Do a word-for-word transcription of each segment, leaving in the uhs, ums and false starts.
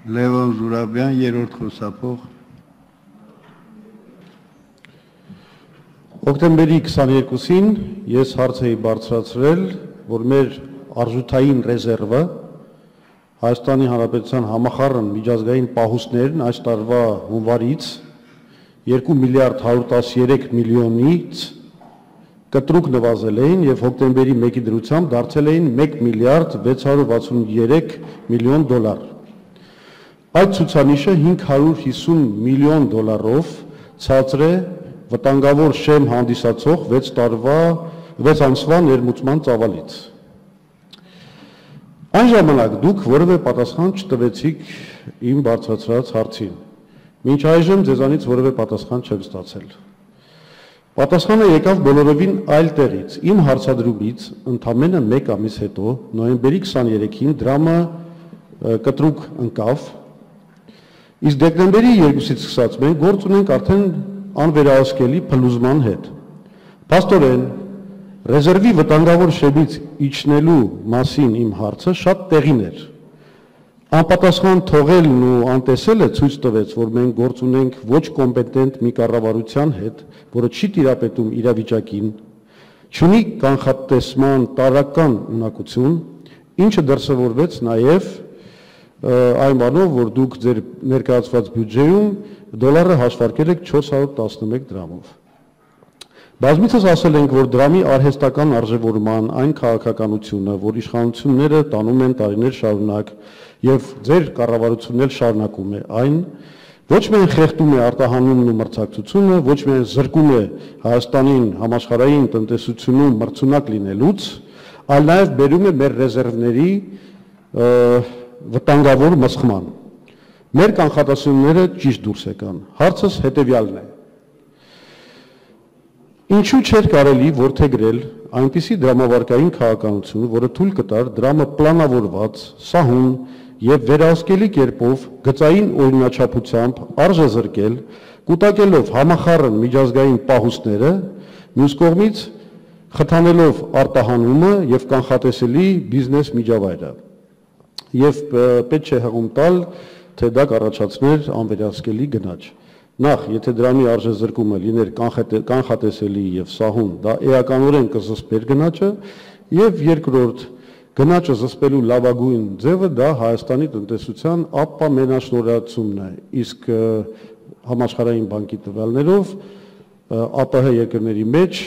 Լևոն Զուրաբյան, երրորդ խոսափող։ Օկտեմբերի քսաներկուսին ես հարց էի բարձրացրել, որ մեր արժութային ռեզերվը Հայաստանի Հանրապետության համախառն միջազգային պահուստներն այս տարվա հունվարից երկու միլիարդ հարյուր տասներեք միլիոնից կտրուկ նվազել էին եւ հոկտեմբերի մեկի դրությամբ դարձել էին մեկ միլիարդ վեց հարյուր վաթսուներեք միլիոն դոլար։ Այդ ցուցանիշը հինգ հարյուր հիսուն միլիոն դոլարով ցածր է վտանգավոր շեմ հանդիսացող վեց տարվա վեց ամսվա ներմուծման ծավալից։ Այն ժամանակ դուք որևէ պատասխան չտվեցիք իմ բարձրացրած հարցին։ Մինչ այժմ ձեզանից որևէ պատասխան չեք ստացել։ Պատասխանը եկավ բոլորովին այլ տեղից։ Իմ հարցադրումից ընդամենը մեկ ամիս հետո, նոյեմբերի քսաներեքին դրամը կտրուկ ընկավ, իսկ դեկտեմբերի երկուսից սկսած մենք գործ ունենք արդեն անվերահսկելի փլուզման հետ։ Փաստորեն, ռեզերվի վտանգավոր շեմից իջնելու մասին իմ հարցը շատ տեղին էր։ Անպատասխան թողելն ու անտեսելը ցույց տվեց, որ մենք գործ ունենք ոչ կոմպետենտ մի կառավարության հետ, որը չի տիրապետում իրավիճակին, չունի կանխատեսման տարրական ունակություն, ինչը դրսևորվեց նաև այն բանով, որ դուք ձեր ներկայացված բյուջեում դոլարը հաշվարկել եք չորս հարյուր տասնմեկ դրամով։ Բազմիցս ասել ենք, որ դրամի արհեստական արժևորման այն քաղաքականությունը, որ իշխանությունները տանում են տարիներ շարունակ եւ ձեր կառավարությունն էլ շարունակում է այն, ոչ միայն խեղդում է արտահանումն ու մրցակցությունը, ոչ միայն զրկում է Հայաստանին համաշխարհային տնտեսությունում մրցունակ լինելուց, այլ նաեւ բերում է մեր ռեզերվների վտանգավոր մսխման։ Մեր կանխատեսումները ճիշտ դուրս եկան։ Հարցս հետեւյալն է. Ինչու չէր կարելի որդեգրել այնպիսի դրամավարկային քաղաքականություն, որը թույլ կտար դրամը պլանավորված, սահուն եւ վերահսկելի կերպով գծային օրինաչափությամբ արժեզրկել, կուտակելով համախառն միջազգային պահուստները, մյուս կողմից խթանելով արտահանումը եւ կանխատեսելի բիզնես միջավայրը։ Եվ պետք չէ հղում տալ, թե դա կառաջացներ անվերահսկելի գնաճ։ Նախ, եթե դրամի արժեզրկումը լիներ կանխատեսելի եւ սահուն, դա էականորեն կզսպեր գնաճը, եւ երկրորդ, գնաճը զսպելու լավագույն ձևը դա Հայաստանի տնտեսության ապամենաշնորհացումն է, իսկ համաշխարհային բանկի տվյալներով ԱՊՀ երկրների մեջ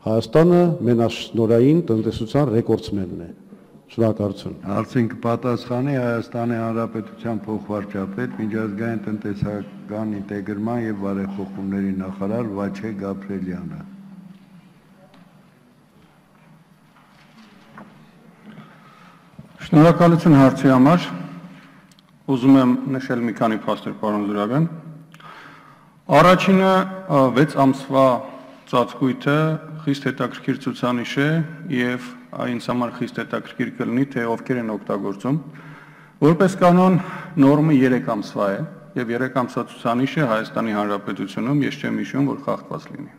Հայաստանը մենաշնորհային տնտեսության ռեկորդսմենն է։ Շնորհակալություն։ Հարցին կպատասխանի Հայաստանի Հանրապետության փոխվարչապետ, միջազգային տնտեսական ինտեգրման եւ բարեփոխումների նախարար Վաչե Գաբրելյանը։ Շնորհակալություն հարցի համար։ Ուզում եմ նշել մի քանի փաստեր, պարոն Զուրաբյան։ Առաջինը վեց ամսվա ծածկույթը խիստ հետաքրքիր ցուցանիշ է եւ ինձ համար խիստ հետաքրքիր կլինի, թե ովքեր են օգտագործում։ Որպես կանոն նորմը երեք ամսվա է եւ երեք ամսվա ցուցանիշը Հայաստանի Հանրապետությունում ես չեմ հիշում, որ խախտված լինի։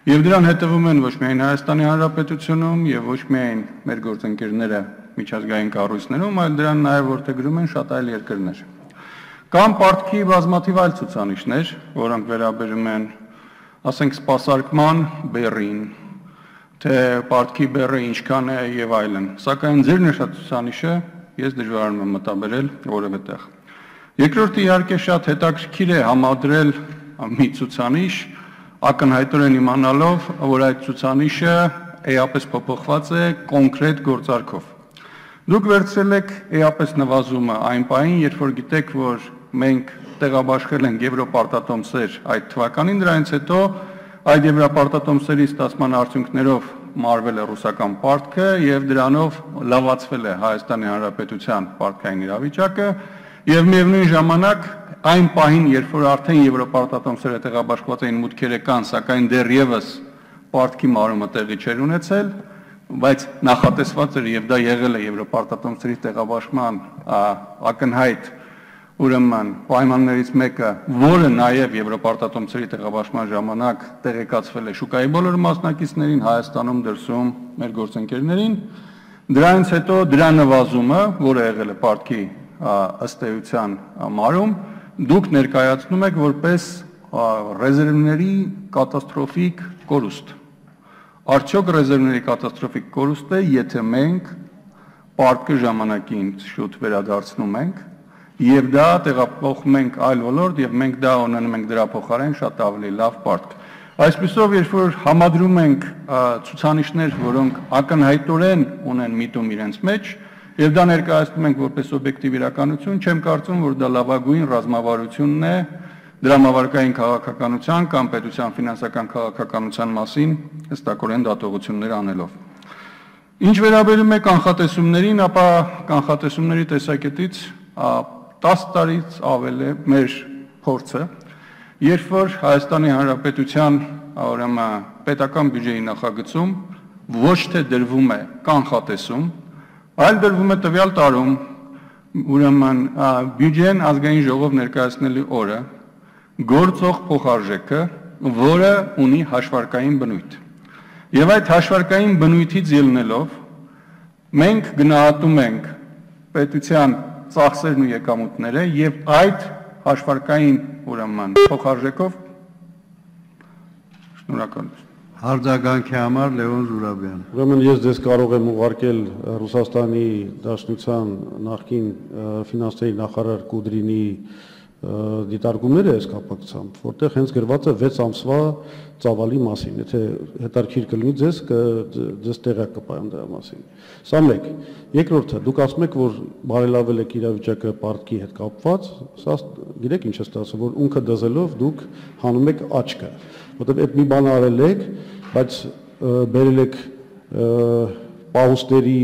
Եվ դրան հետևում են ոչ միայն Հայաստանի Հանրապետությունում եւ ոչ միայն մեր գործընկերները միջազգային կառույցներում, այլ դրան նաեւ որդեգրում են շատ այլ երկրներ։ Կամ պարտքի բազմաթիվ այլ ցուցանիշներ, որոնք վերաբերում են, ասենք, սպասարկման բեռին, թե պարտքի բեռը ինչքան է եւ այլն։ Սակայն ձեր նշած ցուցանիշը ես դժվարանում եմ մտաբերել որևէ տեղ։ Երկրորդը իհարկե շատ հետաքրքիր է համադրել մի ցուցանիշ, ակնհայտորեն իմանալով, որ այդ ցուցանիշը էապես փոփոխված է կոնկրետ գործարքով։ Դուք վերցրել եք էապես նվազումը այն պահին, երբ որ գիտեք, որ մենք տեղաբաշխել ենք եվրոպարտատոմսեր այդ թվականին, դրանից հետո այդ եվրոպարտատոմսերի ստացման արդյունքներով մարվել է ռուսական պարտքը եւ դրանով լավացվել է Հայաստանի Հանրապետության պարտքային իրավիճակը եւ միևնույն ժամանակ այն պահին, երբ որ արդեն եվրոպարտատոմսերը տեղաբաշխված էին մուտքերը կան, սակայն դեռևս պարտքի մարումը տեղի չէր ունեցել, բայց նախատեսված էր եւ դա եղել է եվրոպարտատոմսերի տեղաբաշխման ակնհայտ ուրեմն պայմաններից մեկը, որը նաև եվրոպարտատոմսերի տեղաբաշխման ժամանակ տեղեկացվել է շուկայի բոլոր մասնակիցներին, Հայաստանում, դրսում մեր գործընկերներին, դրանից հետո դրա նվազումը, որը եղել է պարտքի ըստ էության մարում դուք ներկայացնում եք որպես ռեզերվների կատաստրոֆիկ կորուստ։ Արդյոք ռեզերվների կատաստրոֆիկ կորուստ է, եթե մենք պարտքը ժամանակին շուտ վերադարձնում ենք եւ դա տեղափոխում ենք այլ ոլորտ եւ մենք դա ունենում ենք դրա փոխարեն շատ ավելի լավ պարտք։ Այսպիսով, երբ որ համադրում ենք ցուցանիշներ, որոնք ակնհայտորեն ունեն միտում իրենց մեջ, եւ դա ներկայացնում ենք որպես օբյեկտիվ իրականություն, չեմ կարծում, որ դա լավագույն ռազմավարությունն է դրամավարկային քաղաքականության կամ պետության ֆինանսական քաղաքականության մասին հստակորեն դատողություններ անելով։ Ինչ վերաբերում է կանխատեսումներին, ապա կանխատեսումների տեսակետից տասը տարից ավել է մեր փորձը, երբ որ Հայաստանի Հանրապետության ուրեմն պետական բյուջեի նախագծում ոչ թե դրվում է կանխատեսում, այլ դրվում է տվյալ տարում ուրեմն բյուջեն ազգային ժողով ներկայացնելու օրը գործող փոխարժեքը, որը ունի հաշվարկային բնույթ։ Եվ այդ հաշվարկային բնույթից ելնելով մենք գնահատում ենք պետության ծախսերն ու եկամուտները եւ այդ հաշվարկային ուրեմն փոխարժեքով շնորհակալություն։ Արձագանքի համար Լևոն Զուրաբյան։ Ուրեմն ես ձեզ կարող եմ ուղարկել Ռուսաստանի Դաշնության նախկին ֆինանսների նախարար Կուդրինի դիտարկումները այս կապակցությամբ, որտեղ հենց գրված է վեց ամսվա ծավալի մասին, եթե հետարքիր կլինի ձեզ, ձեզ տեղյակ կպայեմ դրա մասին։ Սա մեկ։ Երկրորդը, դուք ասում եք, որ բարելավել եք իրավիճակը պարտքի հետ կապված, սա գիտեք ինչ է ստացվում, որ ունքը դզելով դուք հանում եք աչքը, որտեղ այդ մի բան արել եք, բայց բերել եք պահուստերի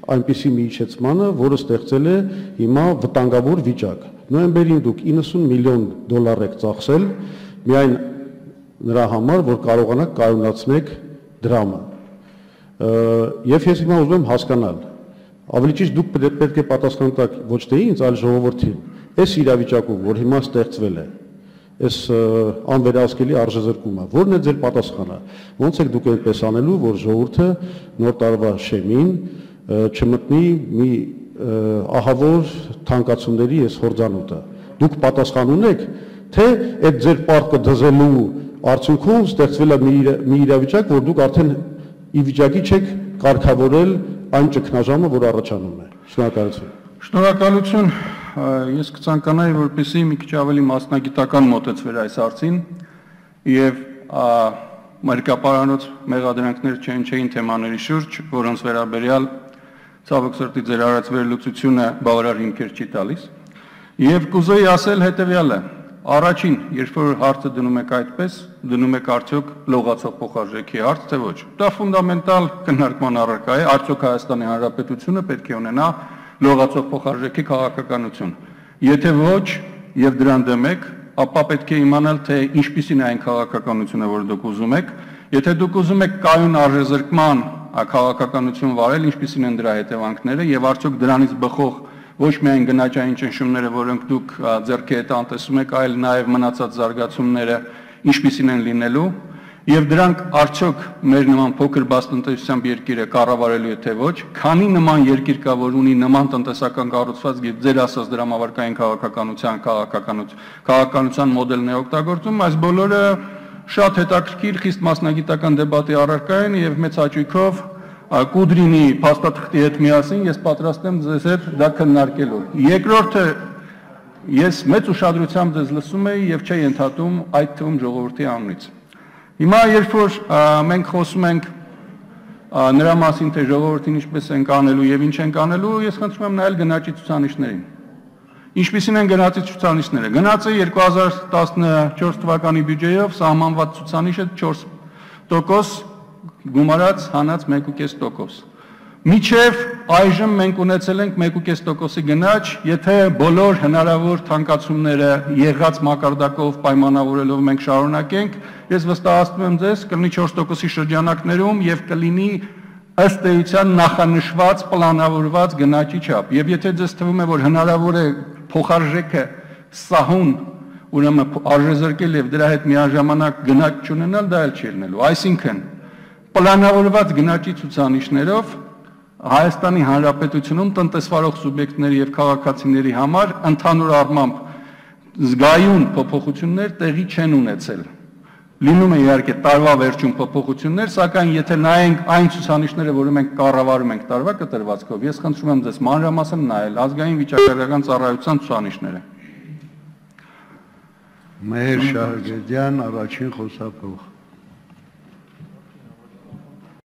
այնպիսի մի իջեցմանը, որը ստեղծել է հիմա վտանգավոր վիճակ։ Նոյեմբերին դուք իննսուն միլիոն դոլար եք ծախսել միայն նրա համար, որ կարողանաք կայունացնեք դրամը։ Եվ ես հիմա ուզում եմ հասկանալ, ավելի ճիշտ դուք պետք է պատասխան տաք ոչ թե ինձ, այլ ժողովրդին, այս իրավիճակում, որ հիմա ստեղծվել է, այս անվերահսկելի արժեզրկումը, որն է ձեր պատասխանը։ Ոնց եք դուք այնպես անելու, որ ժողովուրդը նոր տարվա շեմին չմտնի մի ահավոր թանկացումների այս հորձանուտը։ Դուք պատասխան ունեք, թե այդ ձեր պարտքը դզելու արդյունքում ստեղծվել է մի իրավիճակ, որ դուք արդեն ի վիճակի չեք կարգավորել այն ճգնաժամը, որ առաջանում է։ Շնորհակալություն։ Շնորհակալություն։ Ես կցանկանայի, որպեսզի մի քիչ ավելի մասնագիտական մոտեցվեր այս հարցին եւ մարգապարանոց մեղադրանքներ չեն չէին թեմաների շուրջ, որոնց վերաբերյալ ցավոք սրտի ձեր արած վերլուծությունը բավարար հիմքեր չի տալիս։ Եվ կուզեի ասել հետևյալը. առաջին, երբ որ հարցը դնում եք այդպես, դնում եք արդյոք լողացող փոխարժեքի հարց, թե ոչ։ Դա ֆունդամենտալ քննարկման առարկա է, արդյոք Հայաստանի Հանրապետությունը պետք է ունենա լողացող փոխարժեքի քաղաքականություն։ Եթե ոչ, եւ դրան դեմ եք, ապա պետք է իմանալ, թե ինչպիսին է այն քաղաքականությունը, որ դուք ուզում եք։ Եթե դուք ուզում եք կայուն արժեզրկման քաղաքականություն վարել, ինչպիսին են դրա հետևանքները եւ արդյոք դրանից բխող ոչ միայն գնաճային ճնշումները, որոնք դուք ձեռքի հետ անտեսում եք, այլ նաեւ մնացած զարգացումները ինչպիսին են լինելու եւ դրանք արդյոք մեր նման փոքր բացտնտեսությամբ երկիրը կառավարելու է թե ոչ, քանի նման երկիր կա, որ ունի նման տնտեսական կառուցվածք եւ ձեր ասած դրամավարկային քաղաքականության քաղաքականություն քաղաքականության մոդելն է օգտագործում, այս բոլորը շատ հետաքրքիր, խիստ մասնագիտական դեբատի առարկա են եւ մեծ հաճույքով Կուդրինի փաստաթղթի հետ միասին ես պատրաստ եմ ձեզ հետ դա քննարկելու։ Երկրորդը, ես մեծ ուշադրությամբ ձեզ լսում եի եւ չէի ընդհատում այդ թվում ժողովրդի անունից։ Հիմա երբ որ մենք խոսում ենք նրա մասին, թե ժողովրդին ինչպես ենք անելու եւ ինչ ենք անելու, ես խնդրում եմ նայել գնաճի ցուցանիշներին։ Ինչպիսին են գնացի ցուցանիշները։ Գնացը երկու հազար տասնչորս թվականի բյուջեով սահմանված ցուցանիշը չորս տոկոս, գումարած հանած մեկ ու կես տոկոս։ Միջև այժմ մենք ունեցել ենք մեկ ու կես տոկոսի գնաճ, եթե բոլոր հնարավոր թանկացումները եղած մակարդակով պայմանավորելով մենք շարունակենք, ես վստահեցնում եմ ձեզ, կլինի չորս տոկոսի շրջանակներում եւ կլինի ըստ էության նախանշված, պլանավորված գնաճի չափ։ Եվ եթե ձեզ թվում է, որ հնարավոր է փոխարժեքը սահուն ուրեմն արժեզրկել եւ դրա հետ միաժամանակ գնաճ չունենալ, դա էլ չի լինելու։ Այսինքն պլանավորված գնաճի ցուցանիշներով Հայաստանի Հանրապետությունում տնտեսվարող սուբյեկտների եւ քաղաքացիների համար ընդհանուր առմամբ զգայուն փոփոխություններ տեղի չեն ունեցել։ Լինում է իհարկե տարվա վերջում փոփոխություններ, սակայն եթե նայենք այն ցուցանիշները, որը մենք կառավարում ենք տարվա կտրվածքով, ես խնդրում եմ ձեզ մանրամասն նայել ազգային վիճակագրական ծառայության ցուցանիշները։ Մեհեր Շահրգեդյան, առաջին խոսափող։